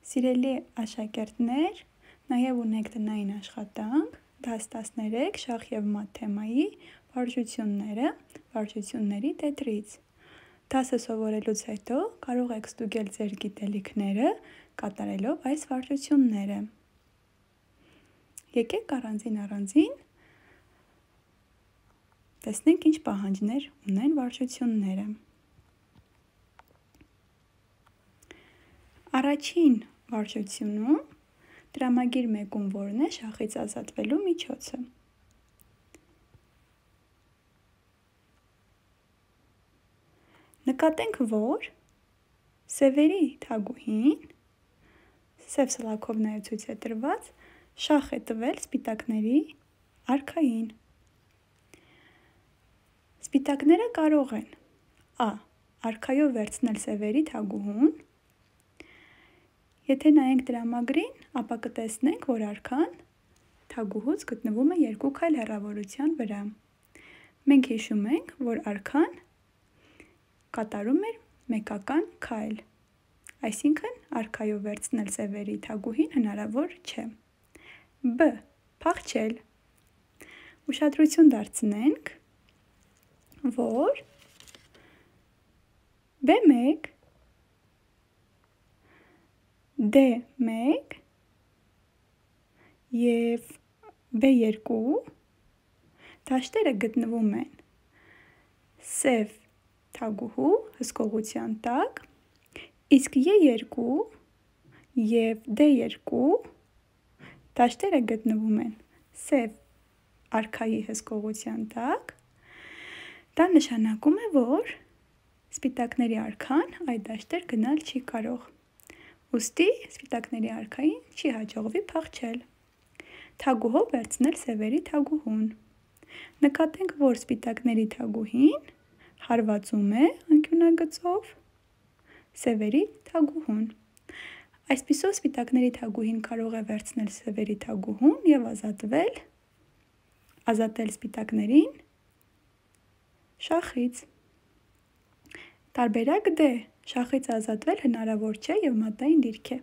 Սիրելի աշակերտներ, նաև ունենք տնային աշխատանք, դաս 13 շախ և մատ թեմայի վարժությունները, վարժությունների տետրից։ Դասը սովորելուց հետո կարող եք ստուգել ձեր գիտելիքները կատարելով այս վարժությունները։ Եկեք առանձին տեսնենք ինչ պահանջներ ունեն վարժությունները։ Առաջին վարժությունում տրամագիր մեկում որն է շախից ազատվելու միջոցը։ Նկատենք, որ սևերի թագուհին, սև սլաքով նաև ցույց է տրված, շախ է տվել սպիտակների արքային։ Սպիտակները կարող են Ա. Արքայով վերցնել սևերի թագուհուն։ Եթե նայենք տրամագրին, ապա կտեսնենք, որ արքան թագուհուց գտնվում է 2 քայլ հեռավորության վրա։ Մենք հիշում ենք, որ արքան կատարում էր մեկական քայլ, այսինքն արքայով վերցնել սևերի թագուհին հնարավոր չէ։ Բ. Փախչել։ Ուշադրություն դարձնենք, որ B1, D1 և B2 դաշտերը գտնվում են սև թագուհու հսկողության տակ, իսկ E2 և D2 դաշտերը գտնվում են սև արքայի հսկողության տակ, դա նշանակում է, որ սպիտակների արքան այդ դաշտեր գնալ չի կարող, ուստի սպիտակների արքային չի հաջողվի փախչել, թագուհով վերցնել սևերի թագուհուն։ Նկատենք, որ սպիտակների թագուհին հարվածում է անկյունագծով սևերի թագուհուն։ Այսպիսով սպիտակների թագուհին կարող է վերցնել սևերի թագուհուն և ազատել սպիտակներին շախից։ Տարբերակ D. Շախից ազատվել հնարավոր չէ և մատային դիրք է։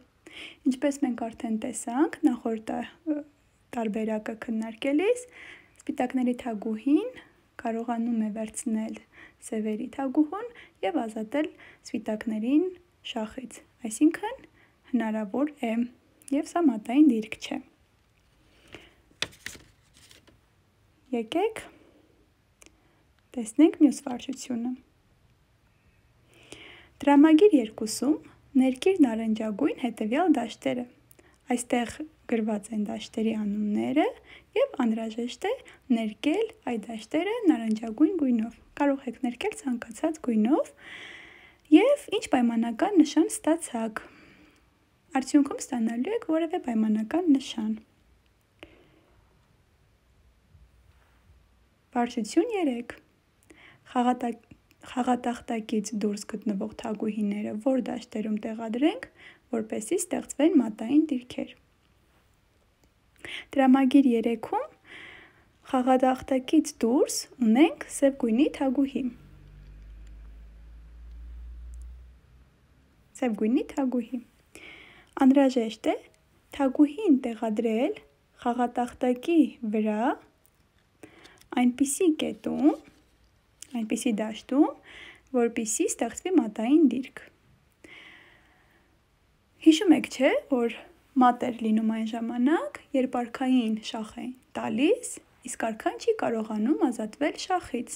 Ինչպես մենք արդեն տեսանք նախորդ տարբերակը քննարկելիս, սպիտակների թագուհին կարողանում է վերցնել սևերի թագուհուն և ազատել սպիտակներին շախից, այսինքն հնարավոր է և սա մատային դիրք չէ։ Եկեք տեսնենք մյուս վարժությունը։ Տրամագիր 2-ում ներկիր նարնջագույն հետևյալ դաշտերը։ Այստեղ գրված են դաշտերի անունները և անհրաժեշտ է ներկել այդ դաշտերը նարնջագույն գույնով։ Կարող եք ներկել ցանկացած գույնով և ինչ պայմանական նշան ստացաք։ Արդյունքում ստանալու եք որևէ պայմանական նշան։ Վարժություն 3. Խաղատախտակից դուրս գտնվող թագուհիները որ դաշտերում տեղադրենք, որպեսզի ստեղծվեն մատային դիրքեր։ Տրամագիր 3-ում խաղատախտակից դուրս ունենք սև գույնի թագուհի։ Անհրաժեշտ է թագուհին տեղադրել խաղատախտակի վրա այնպիսի կետում, այնպիսի դաշտում, որպեսզի ստեղծվի մատային դիրք։ Հիշում եք, չէ՞, որ մատ էր լինում այն ժամանակ, երբ արքային շախ էին տալիս, իսկ արքան չի կարողանում ազատվել շախից։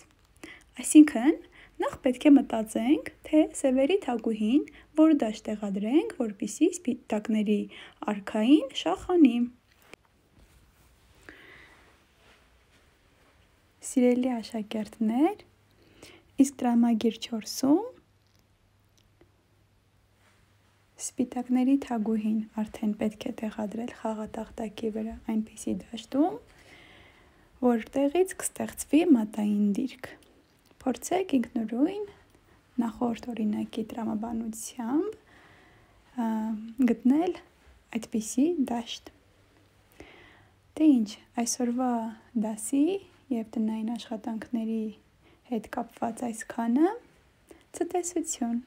Այսինքն, նախ պետք է մտածենք, թե սևերի թագուհին որ դաշտ տեղադրենք, որպեսզի սպիտակների արքային շախ անի։ Սիրելի աշակերտներ, իսկ տրամագիր 4-ում սպիտակների թագուհին արդեն պետք է տեղադրել խաղատախտակի վրա այնպիսի դաշտում, որտեղից կստեղծվի մատային դիրք։ Փորձեք ինքնուրույն նախորդ օրինակի տրամաբանությամբ գտնել այդպիսի դաշտ։ Դե ինչ, այսօրվա դասի և տնային աշխատանքների հետ կապված այսքանը, ցտեսություն։